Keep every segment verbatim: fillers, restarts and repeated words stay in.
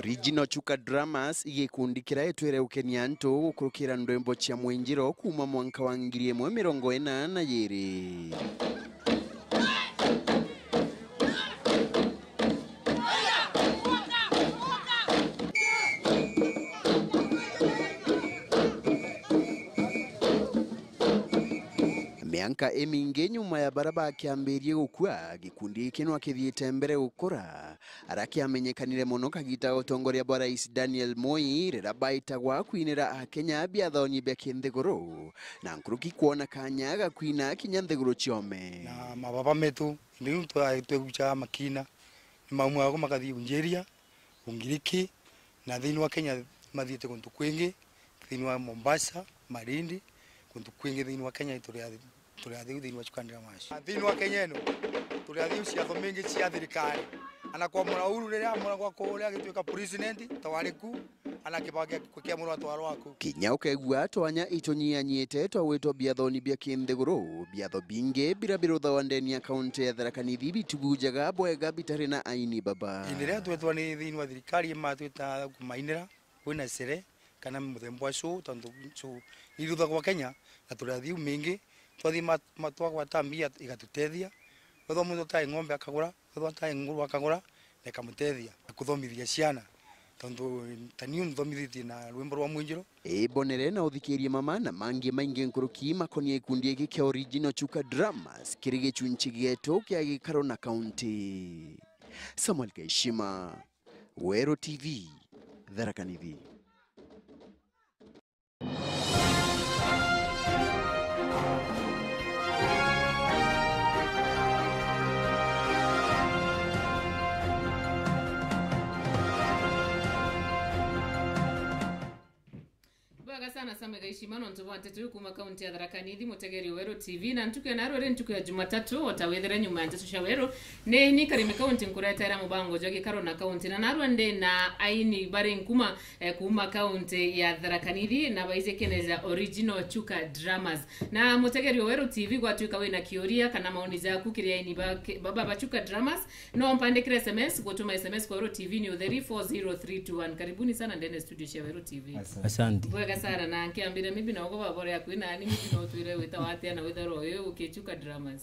Original Chuka Dramas i gikundi kiria gitwire gukenia antu gukurukira ndwimbo cia mwinjiro kuuma mwanka wa ngiri imwe mirongo ina na iiri. Mianka imingi nyuma ya baria bakiambirie gukua, gikundi giki no kithiite mbere gukura, aria kiamenyekanire mono kagita ga utongoria bwa Rais Daniel Moi, riria baitagwa kwinira Akenya biathoni bia kinthiguru, na nkuruki kwona kanya ga kwina kinya nthiguru ciome. Na mababa metu, indi riu twa-, twegucaga makina, ni maumagwa makathii Unjeria, Ungiriki, na thiini wa Kenya mathiite kuntu kwingi, thiini wa Mombasa, Malindi, kuntu kwingi thiini wa Kenya turi a-, turi athiu thiini wa Chuka Dramas. Thiini wa Kenya ino, turi athiu ciatho mingi cia thirikari. Ana kwamura Uhuru riria amuragwa kuria agituika president, ta wari ku, ana Kibaki akiamurwa atwarwa ku. Kinya ukegua twanya itunyianyite twa gwitwa biathoni bia kinthiguru, biatho bingi biria biruthawa ndeni ya kaunti ya Tharaka Nithi bitubujaga bwega bitari na aini baba. Indi riria twetwa ni thiini wa thirikari, imatwita kumainira, kwina sere, kana muthemba wa show, tontu show iruthagwa Kenya, na turi athiu mingi, twathi ma-, ma-, twagwata mbia igatutethia. Wethwa muntu tai ng'ombe akagura, wethwa tai nguru akagura, na ikamutethia na kuthomithia ciana. Tontu ta niu nthomithitie na rwimbo rwa mwinjiro. Ibonere na uthikirie mama na mangi maingi nkuruki makonie gikundi giki kia Original Chuka Dramas kiri gichunchi gietu kia gikaro na kaunti. Samuel Kaishima, Weru T V, Tharaka Nithi. Bwega sana Samuel Gaishima nontu bwa nteto iu kuuma kaunti ya Tharaka Nithi, mutegeri wa Weru T V, na ntuku ya narua ri ntuku ya Jumatatu, o ta withire nyuma ya nteto cia Weru, ni ni Karimi Kaunti nkuretera mubango jwa gikaro na kaunti, na narua ndi na aini bari nkuma eh, kuuma kaunti ya Tharaka Nithi, na baiji kene ja Original Chuka Dramas. Na mutegeri wa Weru T V, gwatuika wina kiuria kana maoni jaku kiri aini ba, ke-, baba ba Chuka Dramas, no mpandikire S M S, gutuma S M S kwa Weru T V ni utheri four zero three two one. Karibuni sana ndene studio cia Weru T V. Asante. Asante. Bwega sana, na nkiambire maybe na ugo baba uria kwina ani, maybe no twire wita watia na witharo uyu uki Chuka Dramas.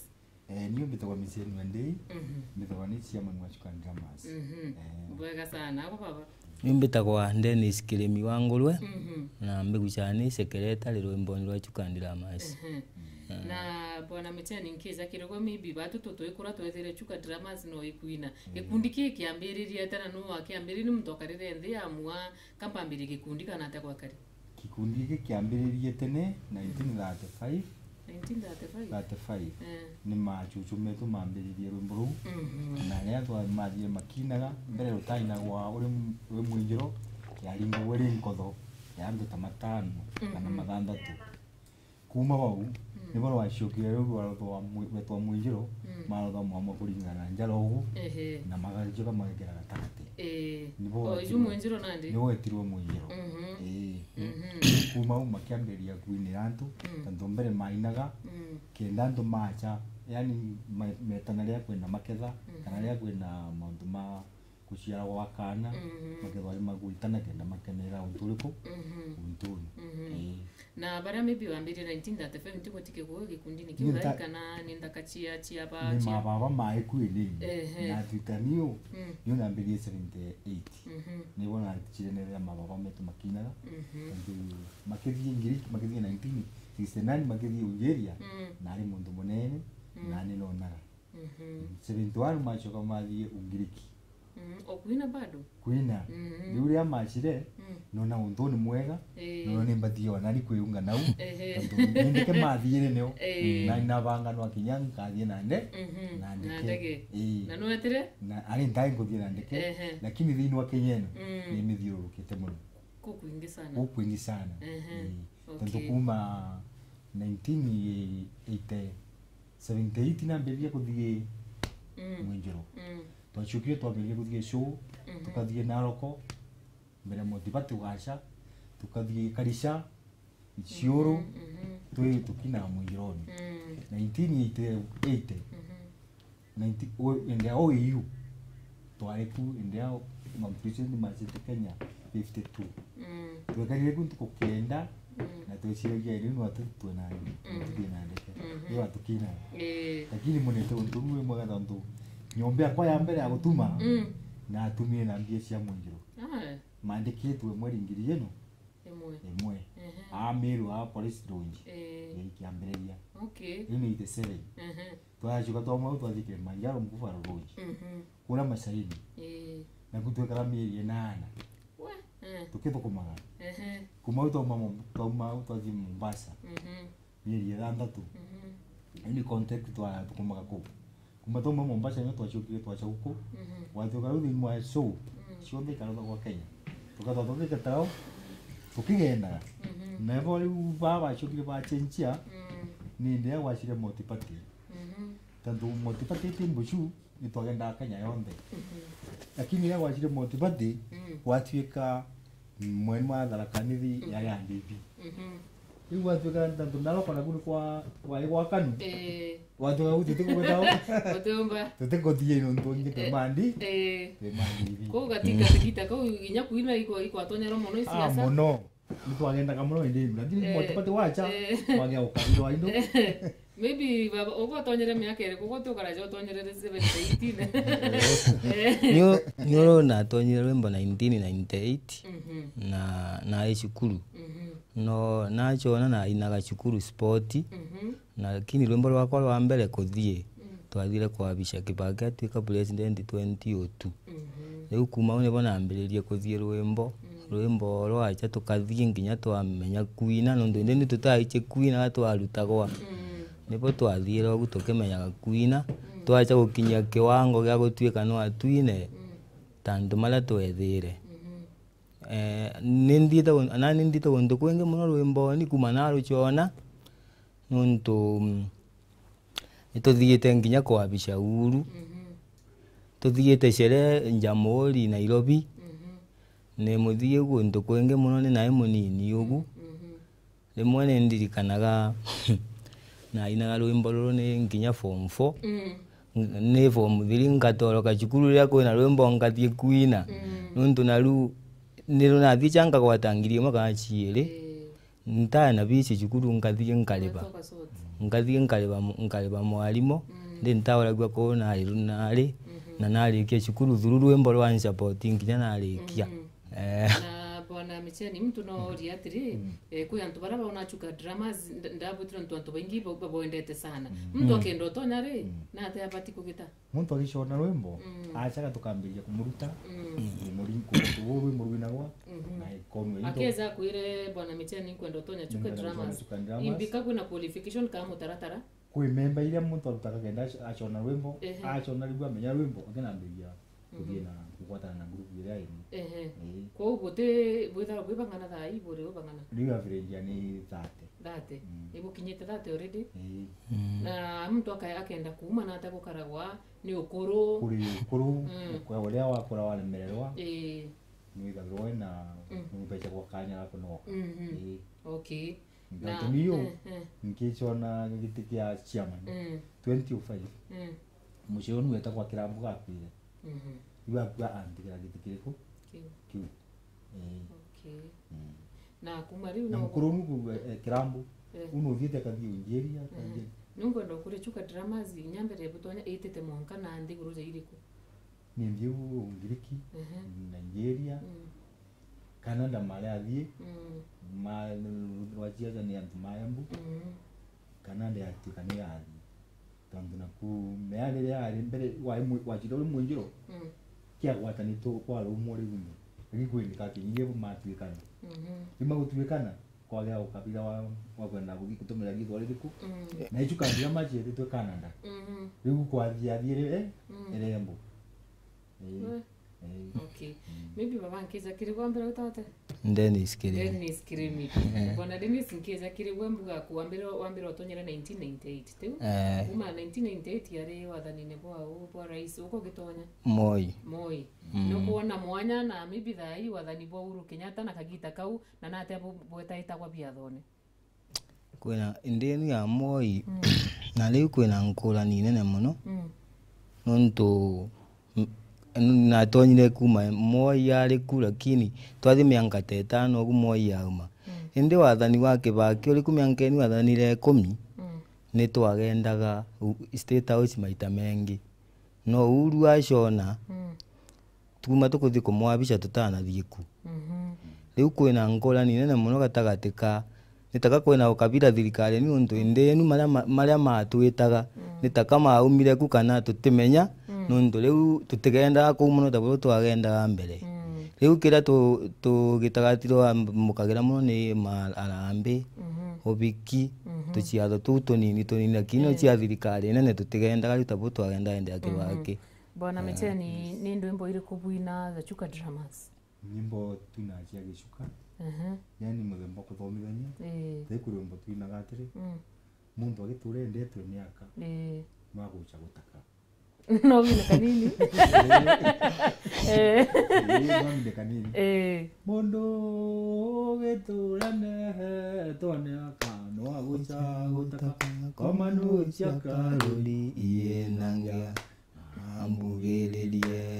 Eh, niu mbitagwa Misienu Ndei, mhm, mbitagwa ni chairman wa Chuka Dramas. Mhm. Eh. Bwega sana, ako baba? Niu mbitagwa Dennis Kirimi wa Ngurwe, mhm, na mbigucaga ni secretary rwimboni rwa Chuka Dramas. Mhm. Eh. Na bwana Misienu, nkija kirogwe maybe batu tutwikura twethire Chuka Dramas no ikwina. Eh. Gikundi ki kiambiririe tena, nu wakiambiririe, ni muntu akarire nthi amua, kampambirie gikundi kana atia gwakari? Gikundi giki kiambiririe tene, nineteen thirty-five. Nineteen thirty-five? Thirty-five. Eh. Ni machuchu metu mambiririe rwimbo ruu. Mhm. Na riria twa-, mathire makinaga, mbere rutainagwa uri m-, uri mwinjiro, yaringagwa iri nkotho ya antu ta matano kana, mhm, mathanthatu. Kuuma bau, mm, nibo rwacokire riu rwarotwa mwi-, rwetwa mwinjiro, mm, marotha mwamwe kuringana na njara ugu, ehe, na magacoka magekira gatagati. Ii. Nibo o, rwetwa-, iu mwinjiro nandi? Nibo wetirwe mwinjiro. Mhm. Ii. Mhm. Kuuma au makiambiriria kwinira antu, mm, tontu mbere mainaga, mm, kenda antu macha, yani ma-, metana riria kwina maketha, mhm, kana riria kwina mauntu ma guciara gwa kaana, mhm, makethwa ari magwitana kenda makenera untu uriku? Mhm. Untuni. Mhm. Ii. Na baria maybe wambirie nineteen thirty-five, ntigwetike kuo gikundini kiu, ni nta-, thai kana ni nthaka cia, cia ba, ni cia mababa mai kwini. Ehe. Na twitaniu, mm, niu nambiririe seventy-eight. Mhm. Nibo nachirenerera mababa metu makinaga. Mhm. Tontu makithie Ngiriki, makithie nineteen sixty-nine, makithie Algeria, mm, nari muntu munene, mm, na ni nonaga. Mhm. Seventy-one macoka mathie Ungiriki. Mm, o kwina bado? Kwina. Mhm. Riu riria macire, mm, nona untu ni mwega, ii, nona ni mbathie o nani kwiunga nau. Ehe. Tontu nindike mathiire nio. Ii. Na nabanga nwa kinya nkathie na nde-, mhm, na ndeke. Na ndege. Ii. Na nwetire? Na ari ntai nkuthie na ndeke, ehe, lakini thiini wa Kenya ino, mm, ni mithiururukite mono. Kukwingi sana. Kukwingi sana. Ehe. Ii. Tontu, okay, kuuma nineteen eighty, seventy-eight nambiririe kuthie, mm, mwinjiro. Mm. Twacokire twambiririe kuthie show, mhm, tukathie Naroko, mbere Motibati ugaca, tukathie Karisha, Isiuru, mhm, mhm, twi tukinaga mwinjironi. Mm. Nineteen eighty-eight, mhm, nineteen, o, ende ya O A U, twari ku, ende ya Mount Pleasant University Kenya fifty-two. Mm. Twekarire ku ntuku kenda, mm, na tweciragia riu no tu-, twe na, mm, tuthie na ndeke. Mhm. Riu atukina. Eh. Lakini munete untu umwe mwega tontu nyomba yakwa ya mbere ya gutuma, mm, natumire na mbia cia mwinjiro. Ah. Maandikitwe mweri ngiri ino. Imwe. Imwe. Ehe. Aa Meru, aa Police Lounge. Eh. Ikiambiriria. Okay. Riu ni eighty-seven. Ehe. Twacoka twauma au twathikire Manjaro Mkufaro Lodge. Mhm. Kuria Masaini. Ii. Naku twekara mieri inana. We, eh. Tukithukumaga. Ehe. Kuma au twauma Mom-, twauma au twathie Mombasa. Mhm. Mieri ithanthatu. Mhm. Indi contact twathukumaga kuu. Kuma twauma Mombasa nyo twacokire twaca guku. Mhm. Gwatuika riu thiini wa show, mm, cionthe ikarutha gwa Kenya. Tukatwa tukigeta au, tukigendaga. Mhm. Na bo riu baa bacokire bacenjia, mm, ni ndia gwacire multiparty. Mhm. Tontu multiparty ti mbucu, ni twagendaga Kenya yonthe. Mhm. Lakini riria gwacire multiparty, mm, gwatuika mwene wa Tharaka Nithi, mhm, yari ya D P. Mhm. Riu gwatuika tontu naroko naku ni kwa, kwari gwa Kanu. Eh. Gwatuika u tutigugweta u. Utiumba. Tutiguthie nontu ingi twi, eh, mandi. Eh. Twi mandi ibi. Kuu gati-, mm, gatigita kau inya kuina ikwa-, ikwatonyerwa mono. Ah, isiasa mono. Nitwagendaga mono indi, lakini, eh, multiparty wacha, eh, wagea ukabirwa indo. Maybe baba, ugo utonyere miaka iriku? Ugo tukaraja utonyerere seventy, eighteen. Eh. Ni u-, ni uru natonyire rwimbo nineteen ninety-eight, mhm, na, nari cukuru. Mhm. No, nachona nainaga cukuru sport, mhm, lakini rwimbo rwakwa rwa mbere kuthie, mm, twathire kwa Abisha Kibaki atuika president twenty oh two. Mhm. Riu kuma au nibo nambiririe kuthie rwimbo. Mm. Rwimbo rwacha tukathie nginya twamenya kuina, nontu indi ni tutaiche kuina, twarutagwa. Mm. Nibo twathiire ugu tukimenyaga kuina. Mm. Twacha gukinyia kiwango gia gutuika no atwine, mm, tantu maria twethiire. Mhm. Eh, ni nthiite gun-, na ni nthiite guntu kwingi mono rwimboni kuma narucona, nontu, mm, nituthiite nginya kwa Abisha Uhuru. Mhm. Tuthiite sherehe Jamhuri Nairobi. Mhm. Ni muthii guntu kwingi mono, ni nai munini ugu. Mhm. Rimwe ni ndirikanaga nainaga rwimbo ruru ni nginya form four. Mm. N-, ni form three ngatoroka cukuru riria kwina rwimbo ngathie kuina. Mm. Nontu naru ni runathie cha nkagwata ngiri imwe kana ciiri. Eh. Ntae na bici cukuru ngathie nkariba. Ngatoka sort. Ngathie nkariba mu-, nkariba mwarimu. Mm. Ndi ntauragua kuu nari ru-, nari, mhm, na narikia cukuru through rwimbo rwa nsapoti nginya narikia. Mhm. Eh. Na Bwana Micheni, muntu no oria atiri, mm, eh, kwi antu baria baona Chuka Dramas, nd-, ndabwitire ntu antu baingi ba-, babwendete sana. Mm. Muntu, mm, akenda utonya ri, mm, nate abati kugita? Muntu agicona rwimbo, mm, achaga tukambiria kumuruta, mm, kumuri-, ku-, ku-, rwimbo rwinagwa, mhm, na ikonwe into. Akeza akwire, Bwana Micheni, nkwenda utonya Chuka Dramas. Nkwenda utonya Chuka Dramas. Imbika kwina qualification kana mutaratara? Kwi memba iria muntu arutaga kenda ac-, acona rwimbo, ehe, acona riu amenya rwimbo, akinambiria kuthie, mhm, na kugwatana na group iria ingi. Ehe. Ii. Kwou buti, bwithagirwa bwi bang'ana thaa ii, buri u bang'ana? Riu average ni thirty. Thirty? Mm. Ibukinyite thirty already? Ii. Mm. Na muntu aka-, akenda kuuma nate gukaragwa ni ukuru? Kuri ukuru, mm, kwa uria wakura waremererwa, ii, nwithagirwa wina, mm, numbecagwa kanya ga kunogoka. Mhm. Ii. Okay. Nontu na, niu, eh, eh, nkicona giti kia chairman, mm, twenty oh five, mm, mucii uu niwe wetagwa Kirambu gakwire. Mhm. Riu akua antigira giti kiriku? Kiu. Kiu. Ii. Okay. Mm. Na kuma riu na no mukuru nu ku-, eh, Kirambu. Eh. Uu nuthiite akathie unjiria, mhm, akathie. Nunkwenda ukuria Chuka Dramas, inya mbere butonya itite mwanka na nthiguru ja iriku? Ni nthiu Ngiriki, mhm, Nigeria, mm, Canada mari athie, mm, ma, rwa ciaca ni antu ma Embu, mm, Canada yatuika ni yathie. Tontu naku mea riria ari mbere, wari mwi-, wacira uri mwinjiro, mm, kiagwatanitwe kwa rumwe riu ni, gikwindika kinyingi bu matuikana. Mhm. Riu magutuikana, kwagea ukabira wa, wa kwenda guthi-, gutumira riitwa ririku? Mm. Na icu kabira macietitwe Canada. Mhm. Riu kwathia thiire, eh, mm, irembo. Ii. We. Ii. Okay. Mm. Maybe baba nkija kiri gwa mbere utate? Dennis Kirimi. Dennis Kirimi. Eh. Bwana Dennis, nkija kiri gwe mbuga ku wambire, wambire utonyere nineteen ninety-eight, tiu? Eh. Kuma nineteen ninety-eight yari wathanine bwa u, bwa rais, uko gitonya? Moi. Moi. Mm. Nukwona mwanya na maybe thaa ii wathani bwa Uhuru Kenyatta na kagita kau, na nate bu-, bwetaitagwa biathone? Kwina, ndini ya Moi, mm, na riu kwina nkurani nene mono, mm, nontu, m-, Natonyire kuuma Moi ari ku, lakini twathi mianka ta itano ugu Moi auma. Mm. Indi wathani wa Kibaki uri ku mianka inu wathanire ikumi, mm, ni twagendaga u-, State House maita mengi. No Uhuru acona, mm, tuuma tukuthi kumwabica tutanathii ku. Mhm. Riu kwina nkurani nene mono gatagati ka, ni taka kwina ukabira thirikari niuntu indi enu maria ma-, maria matwitaga, mm, ni taka maumire ku kana tutimenya, mm, niuntu riu tutigendaga kuu mono ta buria twagendaga mbere. Mm. Riu kiria tu-, tugitagatirwa mbukagira mono ni ma-, arambi, mhm, ubiki, mhm, tuciatho tuu tunini tunini, lakini, eh, cia thirikari nene tutigendaga riu ta buria twagendaga indi ya, mhm, Kibaki. Bwana, eh, Micheni, ni ndwimbo iriku bwina za Chuka Dramas? Nyimbo tu na cia Gichuka. Ehe. Yani muthemba kuthomithania. Ii. Ti kuri rwimbo twinaga atiri, mm, muntu agitura endetwe ni aka, ii, no agucha gutaka. No wine kanini. Eh. Ii, no wine kanini. Eh. Mundu ugitura endetwe ni aka, no agucha gutaka. Komanu cia karuri ienangia. Ambugiririe.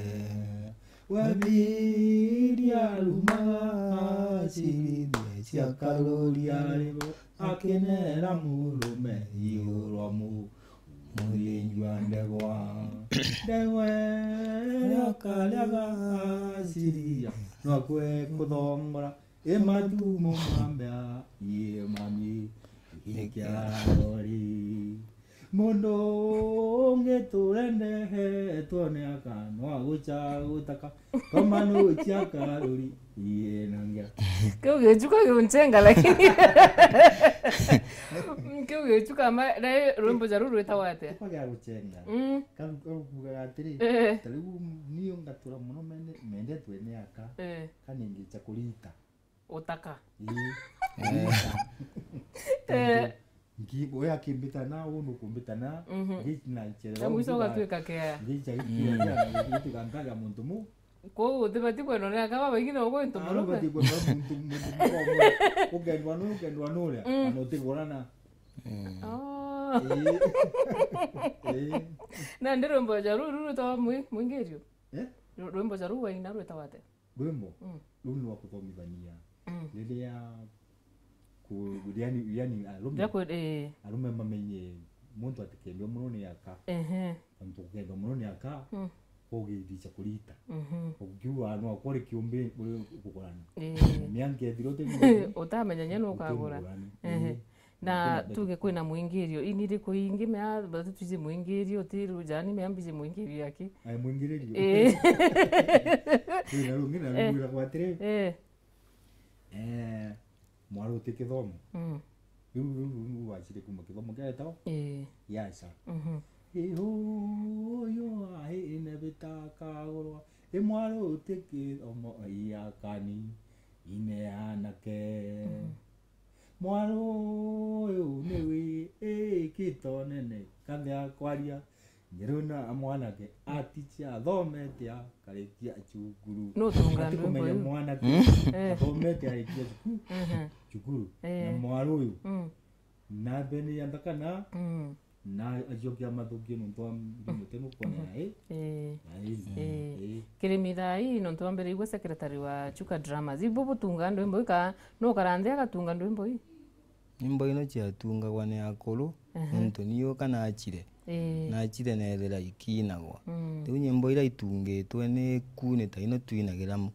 Wethiria arumaga acirithia cia karuri aribo, akinera murume iguru wa mu-, muthinju wa ndegwa. Ndegwa iria akariaga acirithia, no akue kuthongora. Imatumo mambea, imami, ikiarori. Mundu ungi turende twone aka, no agucha gutaka. Komanu cia karuri, ienangia. Kiu Gichuka giunchenga, lakini. Kiu Gichuka ma, na rwimbo ja ruu rwitagwa atia? Kwa gia guchenga. Mm. Karu, karu kuugaga atiri, eh, ta riu niu ngatura mono mende-, mendetwe ni aka, eh, kana ingicha kurita. Utaka. Ii. Eh. Tontu nki-, we akimbita na, we nukumbita na, mhm, ngi na nchere, na mwiso ugatuika kea. Ngicha gituika kea, na gituika mpaka muntu mu. Kwou utibati kwendwa ni aka babaingi na ugwe ntu murume. Ubati kwendwa muntu, muntu murume. Ukendwa nu, ukendwa nuria, mm, na utigurana. Mm. Oh. Ii. Ii. Nandi rwimbo ja ruu, ruu rwitagwa mwi-, Mwingirio? Eh? Ru-, rwimbo ja ruu waina rwitagwa atia? Rwimbo, mm, ruu ni rwa kuthomithania. Mm. Riria ku-, yani, yani arume, ja ku-, eh, arume mamenye muntu atikendwe mono ni aka. Ehe. Tontu gukendwa mono ni aka, mm, kugithica kurita. Mhm. Ukiuga no akore kiumbi uri kukurana. Eh. Mianka ethira uti utamenya nye nu ukagura. Uti mugurani. Ehe. Eh. Na tuge kwina mwingirio, ini iriku ingi mea, batu twiji mwingirio, ti rujani mea mbiji mwingirio aki? Ai, mwingirio. Eh. Kwina rungi na, eh, rwiragwa atiri. Eh. Eh, mwaru uti kithomo. Mm. Riu, riu, riu, riu wachire kuma kithomo kia etao? Eh. Yacha. Mhm. Ihuyu aine bitakagurwa. I mwaru uti kithomo, iakani, ine anake. Mhm. Mwaru uyu ni wi-, ikito nene, kambia kwaria njeru na mwanake atiche athomete akarikia cukuru. No tunga. Ati ndwimbo kumenya iu. Mwanake, mm, eh, athomete arikia cukuru, mhm, cukuru. Eh. Na mwaru uyu, mm, na mbene ya nthaka na, mm. Na ajokia mathuki nontu wa mirimu tenu kwona, mhm, eh? Eh. Ai. Eh. Eh. Kirimi thaa ii nontu wambiriigwe secretary wa Chuka Dramas. Ibu butunga ndwimbo ika, no ukara nthi agatunga ndwimbo ii? Nyimbo ino ciatungagwa ni akuru, aha, nontu niu ka nachire. Eh. Nachire nethira ikiinagwa. Mm. Riu nyimbo iria itungitwe ni ku ni ta ino twinagira mu-,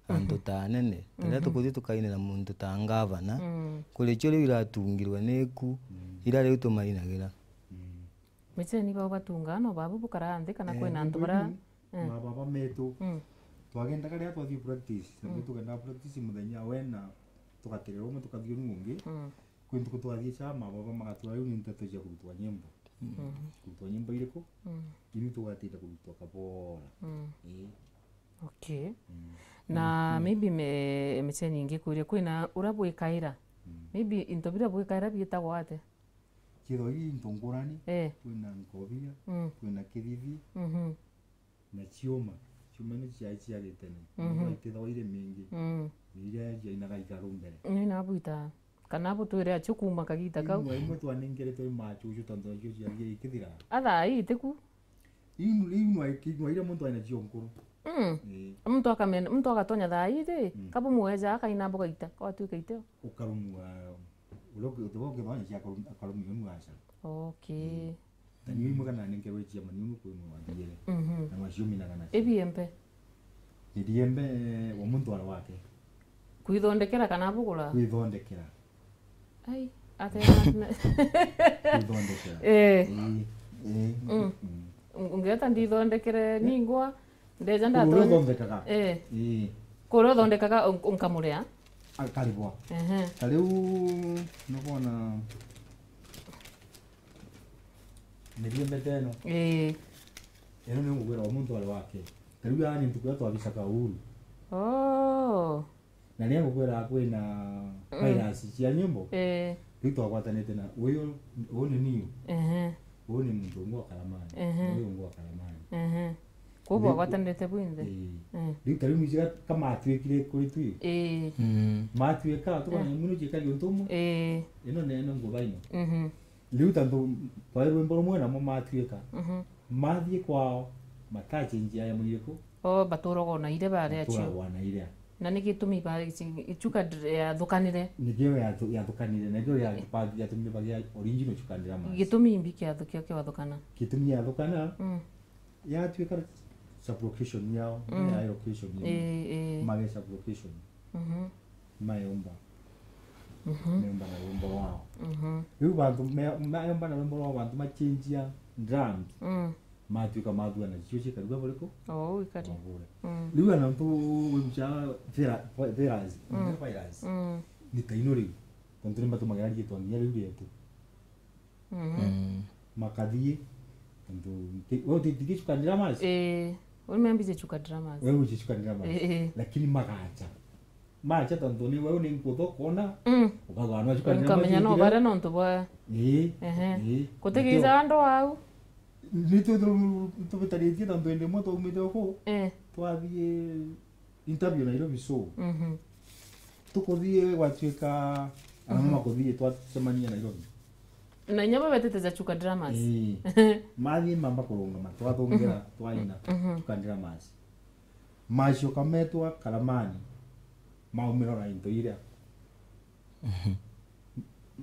antu, mhm, ta anene. Riria, mhm, tukuthi tukainira muntu ta ngavana, mm, kuri cio riu iratungirwe ni ku, mm, iria riu tumainagira. Mm. Micheni bao batungaa no babu bukaraa nthi kana, eh, kwina antu bara, eh, mababa metu. Mm. Twagendaga riria twathii practice, na, mm, tugendaga practice muthenya wena, tugaterera umwe tukathii unu ungi. Mm. Kwi ntuku twathii cha mababa magatwira riu ni nteto cia kurutwa nyimbo. Mm. Kurutwa nyimbo iriku? Mm. Ini tugatinda kurutwa kabora. Mm. Ii. Okay. Mm. Na, mm, maybe me, Micheni ingikuria, kwina uria bwikaira? Mm. Maybe into biria bwikaira biitagwa atia? Kithwa ii into ngurani, eh, kwina nkobia, mm, kwina kithithi, mhm, na ciuma. Ciuma ni cia, cia gitene. Mhm. Nontu itithagwa iri mingi. Mm. Ni iria ciainaga igaru mbere. Ni nabwita. Kana butwire acio kuuma kagita kau. Imwe, imwe twanengeretwe ni machuchu tontu acio ciathire ikithira. Athaa ii itiku? Iu, iu nwa, nwa iria muntu aina cio nkuru. Mm. Ii. Muntu akamena, muntu agatonya thaa ii ri, mm, kabu mweja akaina mboga ita, kwatuika iteo. Ukarumua, uria uki-, uti bo ukithonye cia akarum-, akarumia unu aca. Okay. Ii. Tani imwe kana nenkerwe cia maniunu kwi mwe wathiere. Mhm. Na macio minaga nacio. Ibiembe. Ibiembe, wa muntu ara wake. Kwithondekera kana bugura? Kwithondekera. Ai, ate na, na Kwithondekera. Eh. Ii, ii, mm. Mm. Ungeta ndithondekere ningwa, ndeja. Kuru uria ndatone uthondekaga. Eh. Ii. Kuru uthondekaga un-, unkamuria. Akaribwa. Ehe. Ta riu, nubona, miriembe teno. Ii. Ino ni ngugwira wa muntu ari wake. Ta riu yaani ntuku ya twabicaga uhuru. Oh. Na riria ngukwira kwina, mm, virus cia nyimbo, eh, riu twagwatanite na uyu, uyu ni niu. Ehe. Uyu ni muntu ungi wa Karamani. Ehe. Uyu ungi wa Karamani. Ehe. Kwou bwagwatanirite bwinthe? Ii. Eh. Riu ta riu mwici ka-, kamatwikire kuri twi. Ii. Mm. Matwika, tukona, eh, imwe nuciikagia untu umwe. Ii. Ino neno nguba ino. Mhm. Riu tantu twari rwimbo rumwe namo matwika. Mhm. Mathii kwao, matachenjia ya muriku. O, baturaga o na iria baria cio. Baturaga o na iria. Na ni gitumi ba-, ici-, ichuka dr-, yathukanire. Nikio yathu-, yathukanire, nikio ya-, ba-, yatumire bagia original Chuka Dramas. Gitumi imbi kiathu-, kio kiathukana? Gitumi yathukana, mm, yatuika sub-location yao, mm, ya location yao. Ii, ii. Mage sub-location. Mhm. Mayomba. Mhm. Mayomba na rwimbo rwao. Mhm. Riu bantu me-, mayomba na rwimbo rwao, bantu machenjia drums. Mm. Matuika mathua na cio cikarua buriku? O, uu ikari. Mabure. Mm. Riu ana ntu wibuca vira-, vi-, virus, mm, virus. Mm. Ni ta ino riu. Tontu ni matumagira riitwa nginya riu rietu. Mhm. Mm. Makathii, tontu nti-, we utithii Chuka Dramas? Ii, uni membice Chuka Dramas. We uji Chuka Dramas. Ii, ii. Lakini magacha. Macha tontu ni we ni nkutho kona, mm, ukagwa no Chuka Dramas. Nkamenya no bare nontu bwa. Ii, ehe, ii. Gutigica andu au. Ni tu-, tu-, tubitaritie tontu indi imwe twaumite uku, eh, twathii interview Nairobi show. Mhm. Tukuthii gwatuika, ana, mhm, makuthii twacemania Nairobi. Na inya bo betite ja Chuka Dramas. Ii. Mathii mamba kurungama, twathungira, mhm, twaina, mhm, Chuka Dramas. Macoka metwa Karamani, maumira na into iria. Mhm.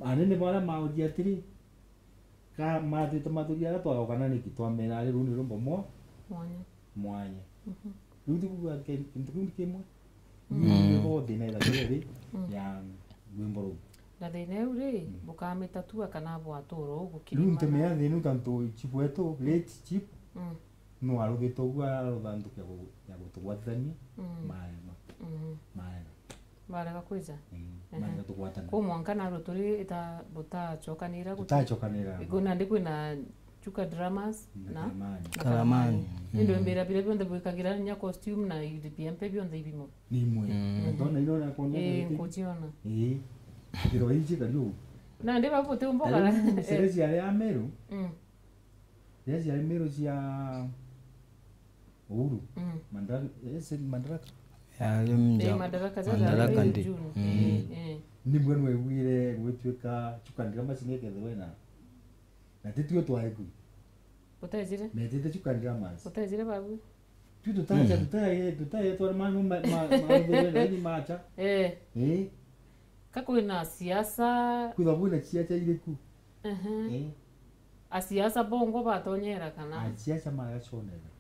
Anene baria mauria atiri, ka matwite mathuria aria twagoka na niki twamera ari ruu ni rwimbo mwa-, mwanya. Mwanya. Mhm. Riu tikuga ke-, kintu kiu ni kimwe. Mm. Riu ni bo thina ira kiri ri, mm, ya rwimbo ruu. Na thina iu ri, mm, bukamitatua kana bwatura uu gukiri. Riu ntumia thina iu tantu chief wetu, late chief, mm, no aruthite uguo arutha ntuku ya gu-, ya gutugwatithania, mm, maema. Mhm. Maema. Barega kwija? Mm. Ehe. Maega tugwatana. Kuu mwanka narua turi ita-, butacokanira guti-, tutacokanira. Igu nandi kwina Chuka Dramas na, na Karamani. Na Karamani. Karamani. Ni ndu, mm, mbira biria bionthe bwikagira nya costume na ibiembe bionthe ibimo. Ni imwe. Mm. Ndona ino na kuonia. Ii, nkuciona. Ii. Kiro iji kariu. Nandi babu buti umboka. Kariu, eh, sere ciari Ameru. Mm. Riria ciari Meru cia Uhuru. Mm. Mandar-, eh, si Madaraka? Yari mja-, eh, Madaraka, Madaraka ndi. June. Mm. Eh, eh. Nibwe nwiguire gwituika Chuka Dramas nikethirwe na, na titue twari ku. Utejire? Metite Chuka Dramas. Utejire babu? Tu tutaja, mm, tutaye, tutaye twa ma, ma, ma, ma, ni macha. Eh. Eh. Ka kwina siasa. Kwitha kwina siasa iriku? Ehe. Eh. Asiasa bongo batonyera kana? Asiasa magaconera.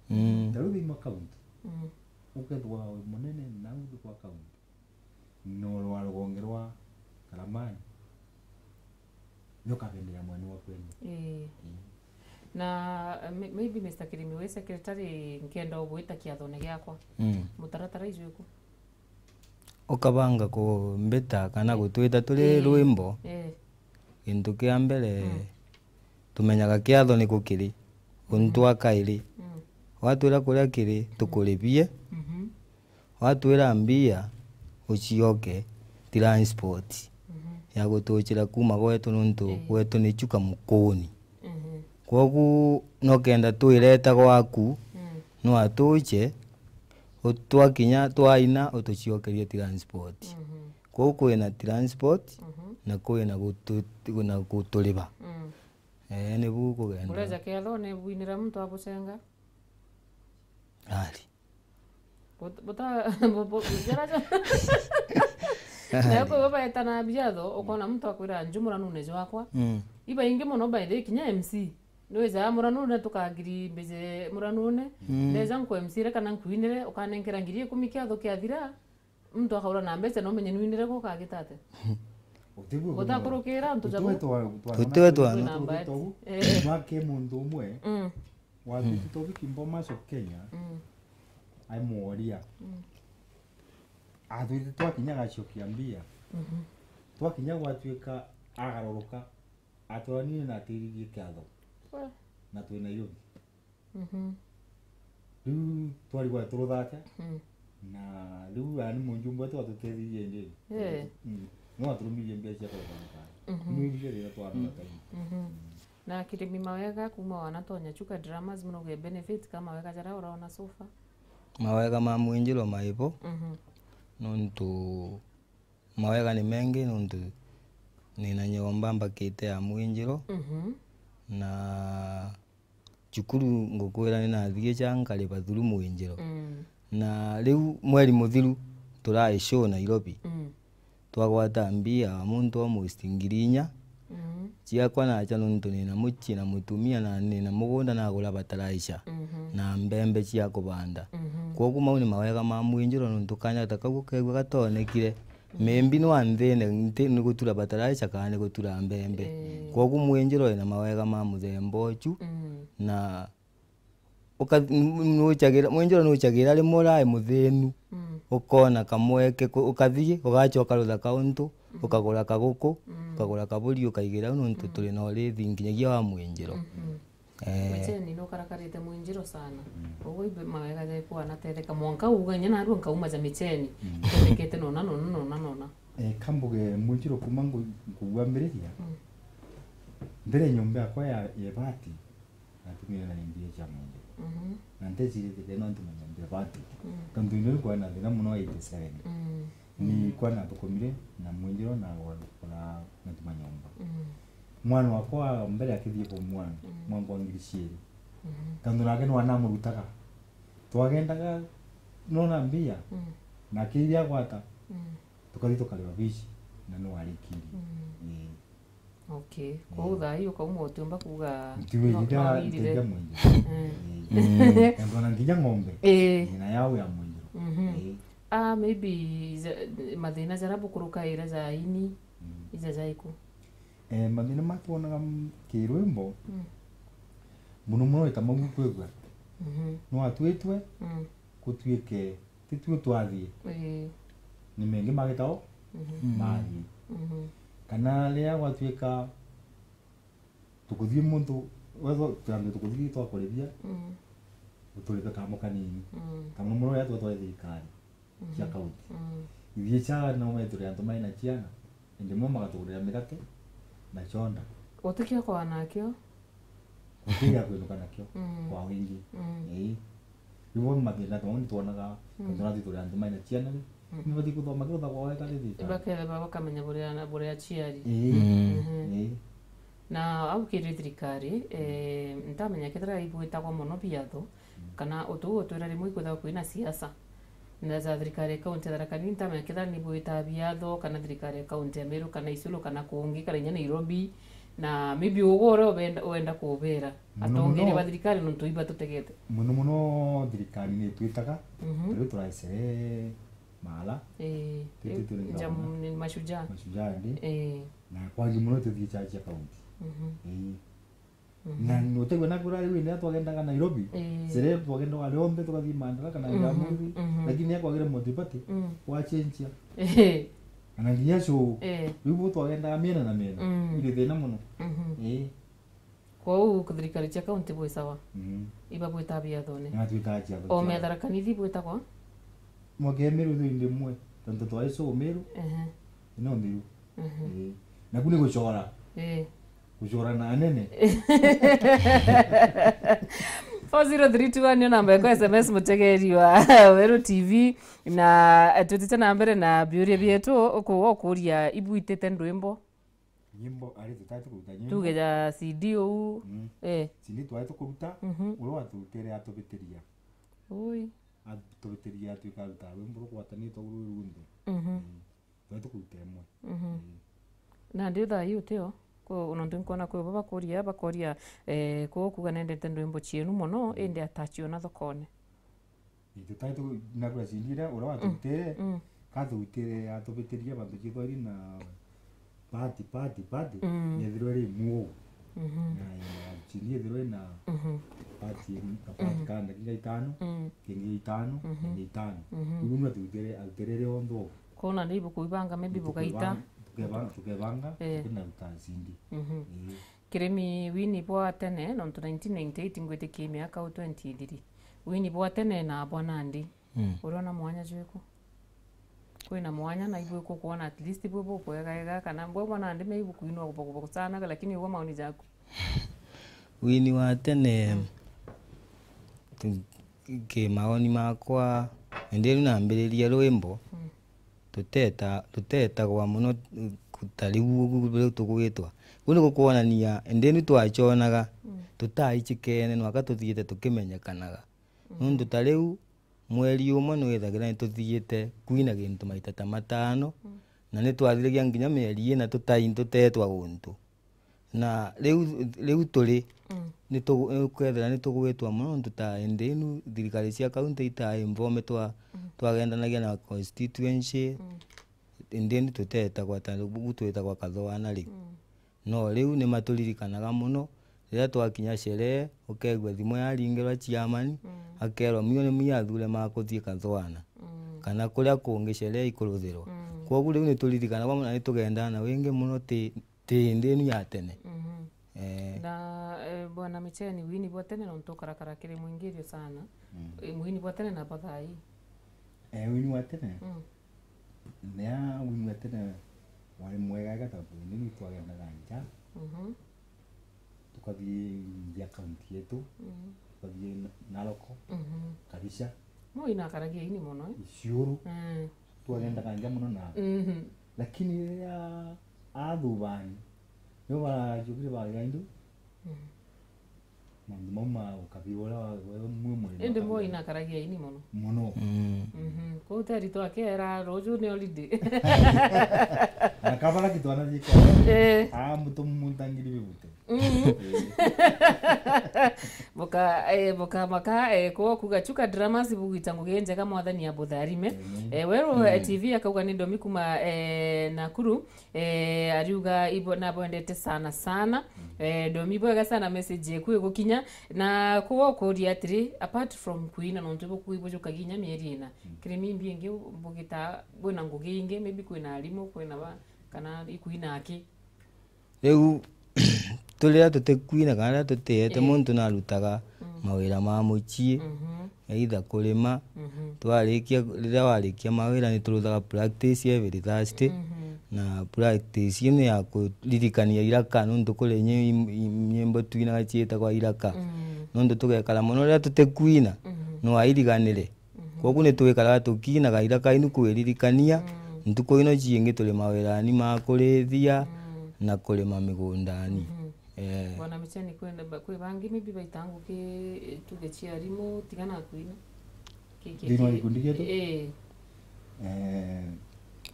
Mm. Ta riu thima county. Mm. Ukethwa wi munene na uthi kwa county. No rwa rugonge rwa Karamani. Nukabendera mwene wa kwenu. Ii. Mm. Na, eh, may-, maybe Mister Kirimi wi secretary, nkenda ugwita kiathone giakwa. Mm. Mutaratara ijwiku? Ukabanga kumbita kana gutwita turi, ii, rwimbo, ii, gintu kia mbere, mm, tumenyaga kiatho ni kukiri, untu, mhm, akairi. Mm. Watwira kuria kiri, mm, tukuribie. Mhm. Watwira mbia, ucioke transport, mhm, ya gutuchira kuma gwetu nuntu, ii, gwetu ni Chuka Mukuni. Mhm. Kwogu no kenda twireta gwaku, mm, no atuche, u-, twakinya twaina utuciokerie transport. Mhm. Kwogu kwina transport, mhm, na kwina gutu-, na guturiba. Mm. Eh, ni bu kugendera. Bureja kiathone bwinira muntu abucenga? Ari. But-, buta-, bu-, bu-, jara ja-, na kwi bo baetana biatho, ukona muntu akwira, "Nju muranune jwakwa." Mm. Ibaingi mono by the way, kinya M C. Nwija muranune tukagiri mbije muranune. Mm. Ndeja nku M C re kana nkuinire, ukanenkera ngiri ikumi kiatho kiathira. Muntu akaura na mbeca, no menye nwinire ku ukagita atia? Utiwe kuna Gutakurukira antu jabu. Utiwe twa, twa Utiwe twana. Twana mbati. Twa Eh. Mwake muntu umwe, Mm. Wathwite Mm. Tobiki Bomas of Kenya, Mm. ai mworia. Mm. Athwite twakinya gacokia mbia. Mhm. Twakinya gwatuika agaruruka, atwonire na atiririe kiatho. We. Na twi Nairobi. Mhm. Riu twarigwa turuthake, Mm. na riu aya ni munjumbe wetu watuteithirie indi. Eh. Mm. No aturumirie mbia cia kugura thirikari. Mhm. Ni iria rira twarora Mm. kaini. Mhm. Mm. Na kirimi mawega kuma wanatonya Chuka Dramas, muno ge benefit ka mawega jaria uraona so far? Mawega ma mwinjiro maibo, Mhm. nontu mawega ni mengi, nontu nina nyomba mbakite ya mwinjiro, Mhm. na cukuru ngukwira ni nathie cha nkariba through mwinjiro. Mm. Na riu mweri muthiru turai show Nairobi. Mm. Twagwata mbia muntu almost ngiri inya. Mhm. Ciakwa nacha nontu nina mucii na mutumia na nina mugunda nagura fertilizer Mhm. na mbembe cia kubanda. Mhm. Kwogu mau ni mawega ma mwinjiro nontu kanya ta kau ukegua gatonekire. Mhm. Maybe no anthine nti ni gutura fertilizer kana ni gutura mbembe. Eh. Kwogu mwinjiro ina mawega ma muthemba ucu Mm. na Uka-, n-, nuchagira, mwinjiro nuchagira rimwe urai muthinu, Mm. ukona kamweke ku-, ukathii, ugachoka ruthaka untu, Mm. ukagura kaguku, Mm. ukagura kaburi, ukaigira au nontu Mm. turi na urithi nginyagia wa mwinjiro. Mhm. Eh. Micheni nukarakarite mwinjiro sana. Mm. Uguo ibe mawega jaku anatetheka. Mwanka uga inya narua nkauma ja Micheni. Mm. Tethekete nona, nona, nona, nona. Eh, kambuge mwinjiro kuma ngu-, nguambiriria. Mm. Mbere nyomba yakwa ya, ya ibati, natumire na mbia cia mwinjiro. Mhm. Na ntecirite kenda ntume nyomba ibati. Mm. Tontu indi riu kwari na thina mono eighty seven. Mm. Ni Mm. kwa nathukumire na mwinjiro na gwa-, na natuma nyomba. Mm. Mwana wakwa wa mbere akithie form one, Mm. mwanka wa ngiri ciiri. Mhm. Tontu nake nwa namurutaga. Twagendaga, nona mbia, Mm. nake iria agwata, Mm. tukathi tukariba fees, na no arikirie. Mm. Ii. Okay. Ii. Kwou thaa ii ukauma utiumba kuuga Ntiwe no, ihinda no wirire. Nteithia mwingi. Eh. Ii. Mm. Tontu ona nginya ng'ombe, Ii. Ina yao ya mwingi. Mhm. Ii. Ah, maybe ja-, mathina jaria bukurukaira ja ini, Mm. ija jaiku? Eh, mathina matwonaga m-, kirwimbo, Mm. mono mono ita mau kwigua. Mhm. No atwitwe, Mm. gutuike titue twathie. Ii. Ni mengi magitao, Mhm. Mm. Mathie. Mhm. Kana riria gwatuika tukuthie muntu, wethwa twambe tukuthie twakurithia, Mm. uturibe kamo kanini. Mm. Kana mono riria twa twa thirikari cia Mhm. Kaunti. Mm. Ithuĩ cha no metũre antũ maĩ na ciana, ĩndĩ mo magatũgũrĩra mĩgate na chonda. Gũtikio kwa nakio. Gũtirĩ gĩa kwĩnũka nakio Mm. kwa wĩingĩ. Mm. Ĩĩ. Rĩu bo mathĩna tondũ nĩ twonaga, Mm. tondũ nathuĩ tũrĩ antũ maĩ na ciana rĩ, Mm. nĩ batiĩ kũthoma kĩrotha kwa wega rĩ thirikari. Ibaketheba bakamenya bũrĩa, bũrĩa aciari. Ĩĩ. Mm. Mhm. Ĩĩ. Na au kiri thirikari, eh, ntamenya kethira ibwitagwo mono biatho, Mm. kana utu utwira rimwe ikwithagwa kwina siasa. Na za thirikari ya kaunti ya Tharaka Nithi, ntamenya kethira ni bwita biatho, kana thirikari ya kaunti ya Meru, kana Isiolo, kana kungi, kana inya Nairobi. Na maybe ugo uria ubenda, uenda kubera. Muno atongeria muno ba thirikari nontu ibatutegete. Muno muno thirikari ni itwitaga, Mhm. tari turaicere maala. Eh, Tete turi njamu ni mashujaa. Mashujaa ndi. Eh. Na kwangi muno tuthii chachi ya kaunti. Mhm. Eh. Mhm. Na nutaigua na kura riu ina twagendaga Nairobi. Eh. Sere twagendaga rionthe tukathii Madaraka na Mhm, Jamhuri. Mhm. Lakini akwagire multiparty Mm. wa change. Eh. Na nginya show. Eh. Riu bo twagendaga miena na miena. Mm. Iri thina muno. Mhm. Eh. Kwou thirikari cia kaunti bwi sawa. Mhm. Iba bwita biathone. Na twita cia O Tharaka Nithi bwitagwa? Mwake Meru thindi mwe. Tontu twaiso Meru. Ehe. Ino Meru. Mhm. Eh. Naku ni gucora. Eh. Gucora na anene. Four zero three two one nio namba yakwa S M S mutegeri wa Weru T V. Na, eh, twitite na mbere na biuria bietu, uku-, ukuria ibwitite ndwimbo. Nyimbo, ari tutari tukuruta nyimbo. Tuge ja C D uu. Mm. Eh. C D twari tukuruta, mhm, uria watutire atubitiria. Ui. Atubitiria atwika aruta rwimbo rugwatanitwe rwi runthe. Mhm. Mm. Twari tukuruta imwe. Mhm. Mm. Nandi thaa ii utio? Ku-, nontu nkwona kwi bo bakuria, bakoria, eh, kuu kuga nendete ndwimbo cienu mono, mm, indi atachiona thokone. Itutari tu-, nagura cindire, uria watutire, mm, katutire, atubitirie bantu ciethwa iri na party, party, party, mm, yethirwe iri imu uu. Mhm. Na, na cindi yethirwe iri na, mhm, party, ka party, mm, ka ndagika itano, mm, kingi itano, mhm, kingi itano. Mhm. Riu natutire, atutire rionthe uu. Kwona ni ibukuibanga, maybe bugaita. Tukebanga, tukebanga, tukebanga, eh, tukinaruta cindi. Mhm. Ii. Kirimi wini bwa tene, nontu nineteen ninety-eight ngwitikia miaka u twenty ithiri. Wini bwa tene na bwa nandi. Mm. Uriona mwanya jwiku? Kwina mwanya na ibwiku kwona at least bwi bukwegaega kana bwe bwa nandi me ibukuinwa kubokubokusanaga lakini ugwa maoni jaku? Wini wa tene, mm, tu-, ki maoni makwa, indi riu nambiriria rwimbo, mm, tuteta-, tutetagwa mono, mm, ta riu ugu riu tugwitwa. Kuu ni gukwonania, indi ni twaconaga, mm, tutaichikene nwaka tuthiite tukimenyekanaga. Mm. Nuntu ta riu, mweri umwe nwithagira ni tuthiite kwina gintu maita ta matano, mm, na ni twathiragia nginya mieri ina tutai-, tuteetwa guntu. Na riu, riu turi, mm, ni tugu-, ukethira ni tugwitwa mono, nontu ta indi inu thirikari cia kaunti itaa informed twa-, mm, twagendanagia na constituency, mm, indi indi tuteetagwa ta riu twitagwa Kathoana riu. Mm. No riu ni maturirikanaga mono, riria twakinya sherehe, ukeegua thimu yaringirwa chairman, mm, akeerwa, "Mio ni mio athure makuthii Kathoana." Mm. Kana kuria kungi sherehe ikuruthirwa. Mm. Kwogu riu ni turirikanagwa mono na ni tugendaa na wingi mono ti ti indi inu ya tene. Mhm. Eh. Na, eh, Bwana Micheni, wini bwa tene nontu ukarakara kiri mwingirio sana. Mm. Eh, wini bwa tene na bwa thaa ii? Eh, wini wa tene? Mm. Nia wini wa tene wari mwega ega tontu indi ni twagendaga nja. Mhm. Tukathii nja kaunti yetu. Mhm. Tukathii Na-, Naroko. Mhm. Kabisa. Mwi nakaragia ini mono, eh? Isiuru. Mm. Twagendaga nja mono na. Mhm. Lakini riria athubani, nio barajukire baria indu. Mhm. Maundu mau ma ukabira uria wa, wa mwe murima. Indi mbo inakaragia ini mono. Mono. Mm. Mhm. Kuu teri twakera ruju ni holiday. Na kabara kitwana thika. Eh. Ah, mutu muntu angiri bibute. Mhm. Boka, eh, boka maka, eh, kwo kuga Chuka Dramas bugwita ngugi njega mwathani abutharime. Amen. Eh, weru, eh, T V akauga ni Ndomi kuma, eh, Nakuru. Eh, ariuga ibo nabwendete sana sana. Mm. Eh, Ndomi bwega sana message yeku igukinya. Na kwo kuria atiri, apart from kuina nontu bukui bujukagia inya mieri ina. Mm. Kiri mimbi ingi bugita bwina ngugi ingi, maybe kwina arimu, kwina ba, kana ikuina aki. Riu, tu riria tutikuina kana riria tutiete, ii, muntu narutaga, mm, mawira ma mucii, mhm, either kurima, mhm, twarikia, riria warikia mawira ni turuthaga practice every Thursday, mhm, na practice ino ya kuririkania iraka, nontu kuri nyi-, nyimbo twinaga ciitagwa iraka. Mm. Nontu tugekara mono riria tutikuina, mhm, no airiganire. Mhm. Kwogu ni twikaraga tukiinaga iraka inu kwiririkania, mm, ntuku ino ciingi turi mawirani ma kurithia, mm, na kurima migundani. Mhm. Eh. Bwana Micheni, kwenda ba-, kwi bangi maybe baita nguki, eh, tuge cia arimu, tiga na kuina? Ki-, ki-, thiini wa ki-, gikundi gietu? Eh. Eh,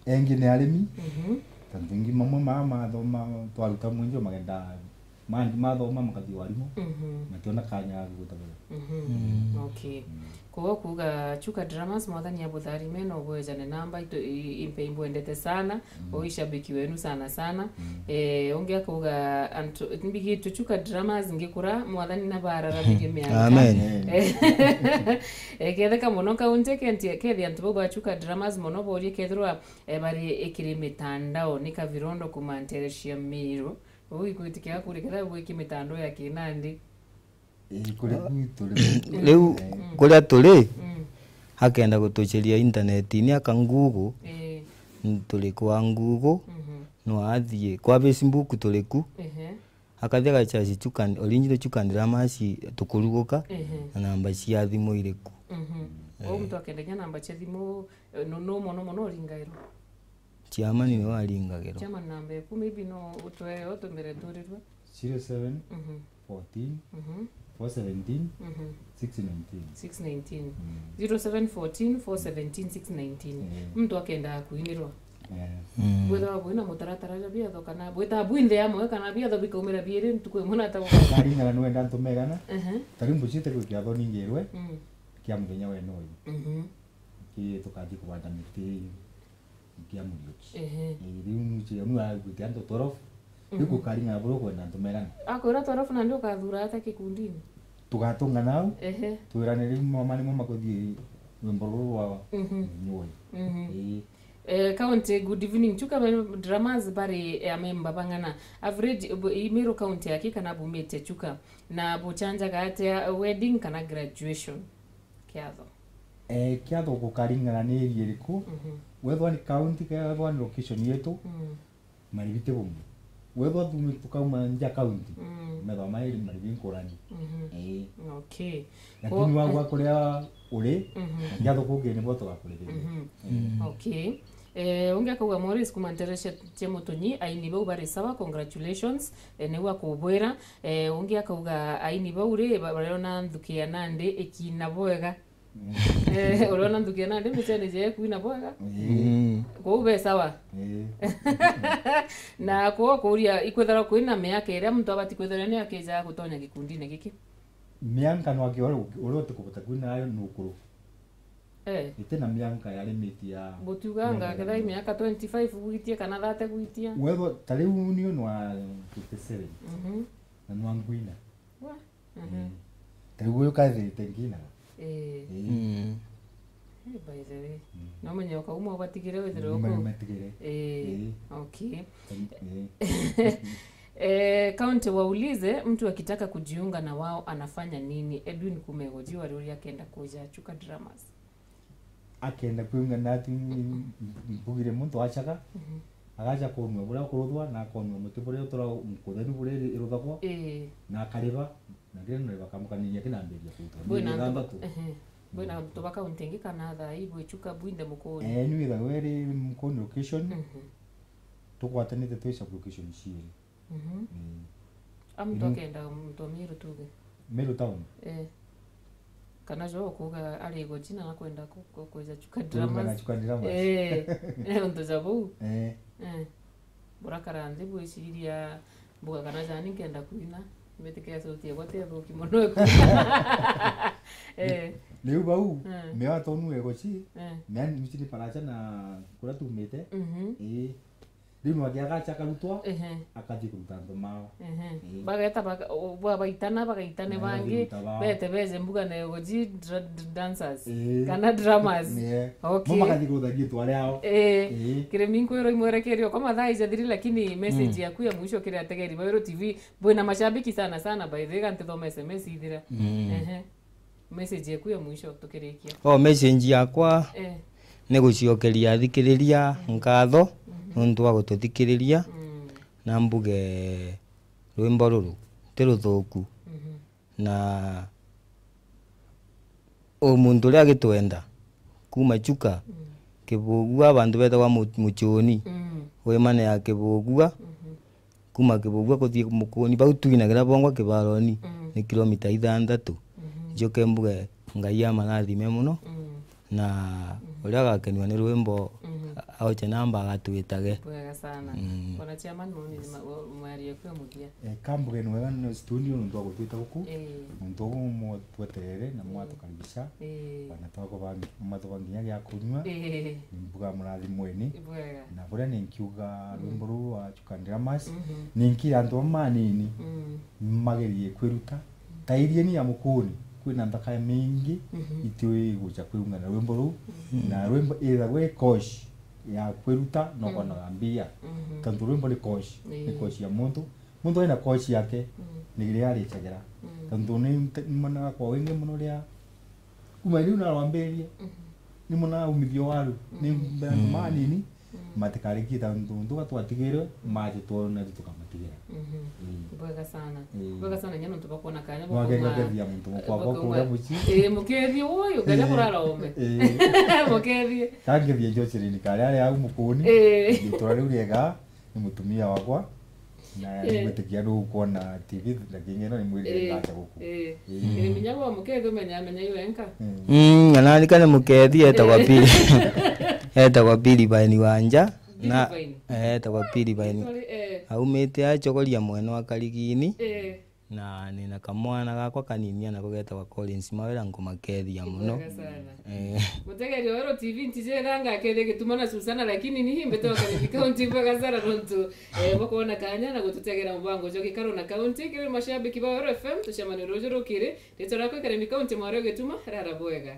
engi ni arimi, mhm, tontu ingi mamwe maa mathoma, twaruta mwenjo magenda Mandi mathoma makathi warimu, mhm, mationa kanya ga gwita wira. Mhm. Mm. Okay. Mm. Koguo kuuga Chuka Dramas, Mwathani abutharime na ubwejane namba, itu-, i-, impe imbwendete sana, mm, o ishabiki wenu sana sana. Mm. Eh, ungi akauga, antu, mbigitwe Chuka Dramas ngikura, Mwathani nabararamirie miaka. Amen. Eh, ketheka mono kaunti kenti-, kethi antu bau ba Chuka Dramas mono borie kethirwa, eh, bari ikiri mitandao, ni Kavirondo kuma ntere cia Miru. Uu ikwitikia kuri kethira gwiki mitandao ya kinandi. Ii, kuri ku turi. Riu, mm, kuria turi, mm, akenda gutuceria intanetini, aka Google, ii, turi kwa Google, mhm, no athie kwa Facebook turi ku, ehe, akathia gachaci Chuka, original Chuka Dramas tukuruguka, ehe, na namba cia thimu iri ku. Mhm. Eh. Uu muntu akendagia namba cia thimu, eh, no, no mono mono uringairwa? Chairman niwe aringagirwa. Chairman, namba eku maybe no utwe utumire turirwe. Zero seven, mhm, fourteen, mhm, four seventeen, mhm, six nineteen. Six nineteen. Mm. Zero seven fourteen, four seventeen, six nineteen. Mm. Muntu akenda kuinirwa. Yeah. Mm. Bwithawa bwina mutaratara ja biatho kana bwithawa bwinthe amwe kana biatho bikaumira biiri ntuku imwe na tagwa. Karingana nwenda ntumegana. Mhm. Tari mbucite gwi kiatho ningirwe. Mm. Kia muthenya wene uyu. Mhm. Ki tukathi kubanda miti. Kia Muriuki. Ehe. Ii, riu nuche, nu aigwite antu twelve. Riu, mhm, gukaring'ana buria ukwenda antu megana. Akwira twelve nandi ukathura ata kikundini? Tugatung'ana au. Ehe. Twirane riu mama nimo makuthii rwimbo ruru rwa, mhm, nyoi. Mhm. Ii. Eh, county, good evening. Chuka Meru Dramas bari, eh, amemba bang'ana. Average, eh, bu-, i Meru county aki kana bumite Chuka. Na buchanjaga atia wedding kana graduation? Kiatho. Eh, kiatho gukaring'ana ni area iriku. Mhm. Wethwa ni county, kethwa ni location yetu, mm, maribi ti bumwe. Wethwa tume tukauma nja county, mm, methwa mairi maribi nkurani. Mhm. Eh. Okay. Lakini, ko-, wagwa kuria uri, mhm, na kiatho kungi nibo tugakurithia. Mhm. Eh. Mm. Okay. Eh, ungi akauga, Morris kuma Ntereshe cia Mutunyi, aini bau bari sawa, congratulations. Eh, niu akubwira. Eh, ungi akauga, aini bau ri, ba-, bariona nthuki ya nandi ikina bwega. Mm. Eh, uriona nthuki ya nandi mbichani je kwina bwega. Mm. Kwou be sawa. Eh. Na kwou kuria, ikwithirwa kwina miaka iria muntu abati kwithirwa ni akija gutonya gikundini giki? Mianka nwaki uria utikubota kwina nayo nukuru. Eh. Iti na mianka ya limit ya. Gutiuganga miaka kethira i miaka twenty-five gwitia kana thirty gwitia. Wethwa ta riu ni unwa fifty-seven. Mhm. Na nwa ngwina. Wa. Mhm. Mm. Ta riu uyu kathirite ngina. Eh. Eh. Mm. Eh, by the way. Mm. No menye ukauma ubatigire withire. Ni uku. Matigire. Eh. Eh. Okay. Eh. Eh, county waulize, mtu akitaka kujiunga na wao anafanya nini? Edwin Kumego, jua ruri akenda kuja Chuka Dramas. Akenda kwiunga nati mbugire muntu achaga, mhm, agacha konua buria kuruthwa na konua muti buria utura nkuthenu buria iruthagwa, ii, na akariba, na kiri nariba kamukaniria kinambiria kuruthwa. Bwina antu ba-, ithanthatu. Ehe. Bwina antu ba county ingi kana thaa ii bwi Chuka bwinthe Mukuni? Eh, ni withaga iri Mukuni location. Mhm. Tugwatanite twi sub location ciiri. Mhm. Mm. A muntu akenda muntu wa Meru tuge. Meru town? Eh. Kana jo kuga ari Igochi na nakwenda ku-, ku-, kwija Chuka Dramas. Chuka Dramas. Eh. Eh, untu ja bau. Eh. Eh. Burakara nthi bwiciria mbuga kana jani nkenda kwina. Mbitikia sauti yakwa ti thuki mono. Eh. Riu bau, mm, mea tonu Igochi, eh, mea nchini paracha na kura tumite. Mhm. Eh. Riu nwake agacha akarutwa, ehe, akathi kuruta antu mao. Ehe. Ii. Bageta baga-, o-, bwa-, baitana, bagaitane. Na bangi, agathi kuruta bao. Bete beze mbuga na Igochi dra-, d-, dancers. Ii. Kana drummers. Yeah. Okay. Mo makathi kurutha gitu ari ao. Ii. Ii. Kirimi nkwirwo imwerekerio kwa mathaa ijathiri, lakini message, mm, yaku ya mwisho kiri ategeri ba Weru T V, bwina mashabiki sana sana, by the way, gantithoma S M S ithira. Mm. Ehe. Message yaku ya mwisho tukirikia. O, message yakwa, eh, ni guciokeria athikiriria, mm, nkatho, mhm, nuntu wa gututhikiriria, mm, na mbuge rwimbo ruru ti ruthuku. Mhm. Na u muntu uria agitwenda kuma Chuka, mm, Kibugua, bantu betagwa Mu-, Muchuni, mm, wi mane ya Kibugua, mhm. Kuma Kibugua kuthii Mukuni, bau twinagira bongwa kibaroni, mm, ni kilomita ithanthatu. Mhm. Njoke mbuge Ngai amarathime muno, mm, na, mhm, uria agakenua ni rwimbo, mhm, a-, aoche namba agatwitage. Bwega sana. Mm. Bwana chairman, maoni ni ma-, wa-, mwaria kwa muthia. Eh, kambuge ni wega ni studio nuntu wa gutwita guku. Eh. Nuntu uguo mutweterere na, mm, mwatukaribisha. Eh. Bana twako bangi, matuba nginya gia kunyua. Eh. Ni mbuga murathimweni. Bwega. Na buria ni nkiuga, mm, rwimbo ruu rwa Chuka Dramas, mhm, ni nkira antu bau manini, mm, magerie kwiruta. Ta irieni ya Mukuni, kwina nthaka mingi, mhm, itiui gucha kwiungana rwimbo ruu. Mhm. Na rwimbo ithagwa i course ya kwiruta, no, mm, konaga mbia. Mhm. Tontu rwimbo ni course, ni, ii, course ya muntu. Muntu ena course yake, mm, ni riria arichagira. Mm. Tontu ni nte-, ni monaga kwa wingi muno ria kuma riu narwambirie, mhm, ni monaga umithio waru. Ni, mm, mbere antu, mm, manini, Matikarikie ta untu untu batwatigirwe, maje twona tu tukamatigira. Mhm. Mm. Bwega sana. Mm. Bwega sana, nyana untu bakwona kanya. Mwake bakuma- ngokethia muntu mukwa bakuma- kwa kuria muci. Eh, mukethie uyu, kanya kurara ome. Eh. Mukethie. Kangethia Jocelyn kare ari au mukuni. Eh. Itwa riu riega ni mutumia wakwa. Na eh, ngwitikia ndu ukwona T V na kingi no ni mwiri eh, ndacha guku. Eh. Eh. Ni minya wa mukethie umenya amenya iwe enka. Mm. Mm, na nani kana mukethie etagwa eh, Pili. Etagwa Pili Baini Wanja. Na, eh, etagwa Pili Baini. Sorry, eh. Aumite acogoria mwena wa Karigini. Eh. Na nina kamwana gakwa kanini anako getagwa Collins Mawira, nkumakethia muno. Bwega sana. Eh. Mutegeri wa Oro T V ntijega ngakethia Gituma na Susana, lakini ni mbete wa Karibi County bwega sana nontu, eh, bwakwona kanya na gututegera mubango jwa gikaro na county. Kiri mashabiki ba Oro F M, tucemanie ruju rukiri. Ritwa riakwa Karibi County, mwari wa Gituma, rara bwega.